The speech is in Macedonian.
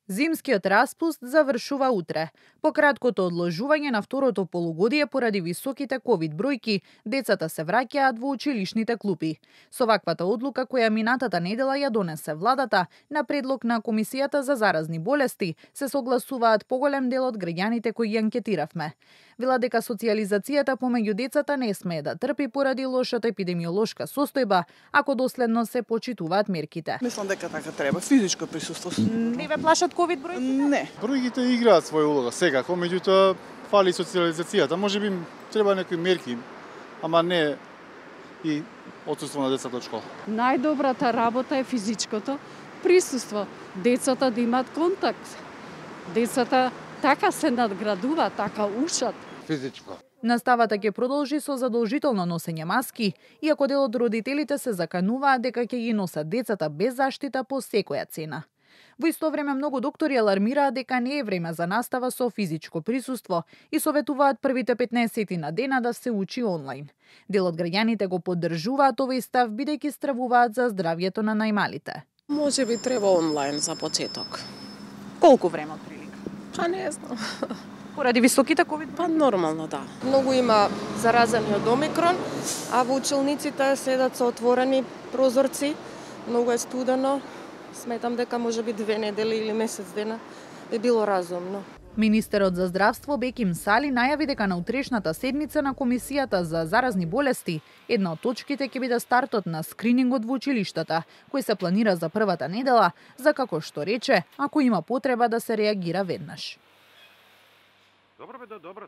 Зимскиот распуст завршува утре. По краткото одложување на второто полугодие поради високите ковид бројки, децата се враќаат во училишните клупи. Со ваквата одлука која минатата недела ја донесе владата, на предлог на Комисијата за заразни болести, се согласуваат поголем дел од граѓаните кои ја анкетиравме. Вела дека социјализацијата помеѓу децата не смее да трпи поради лошата епидемиолошка состојба, ако доследно се почитуваат мерките. Мислам дека така треба, физичко присуство. Не ве плашат ковид бројките? Не. Бројките играат своја улога секако, меѓутоа фали социјализацијата. Можеби треба некои мерки, ама не и отсуство на децата од школа. Најдобрата работа е физичкото присуство. Децата да имаат контакт. Децата така се надградува, така учат. Физичко. Наставата ќе продолжи со задолжително носење маски, иако дел од родителите се закануваат дека ќе ги носат децата без заштита по секоја цена. Во исто време многу доктори алармираат дека не е време за настава со физичко присуство и советуваат првите 15 на дена да се учи онлайн. Дел од граѓаните го поддржуваат овој став бидејќи стравуваат за здравјето на најмалите. Може би треба онлайн за почеток. Колку време од прилика? Па не знам. Поради високите ковид? Па нормално, да. Многу има заразени од омикрон, а во училниците седат со отворени прозорци, многу е студено. Сметам дека може би 2 недели или месец дена би било разумно. Министерот за здравство Беким Сали најави дека на утрешната седница на Комисијата за заразни болести една од точките ќе биде стартот на скринингот во училиштата, кој се планира за првата недела, за како што рече, ако има потреба да се реагира веднаш. Добро бе, добро.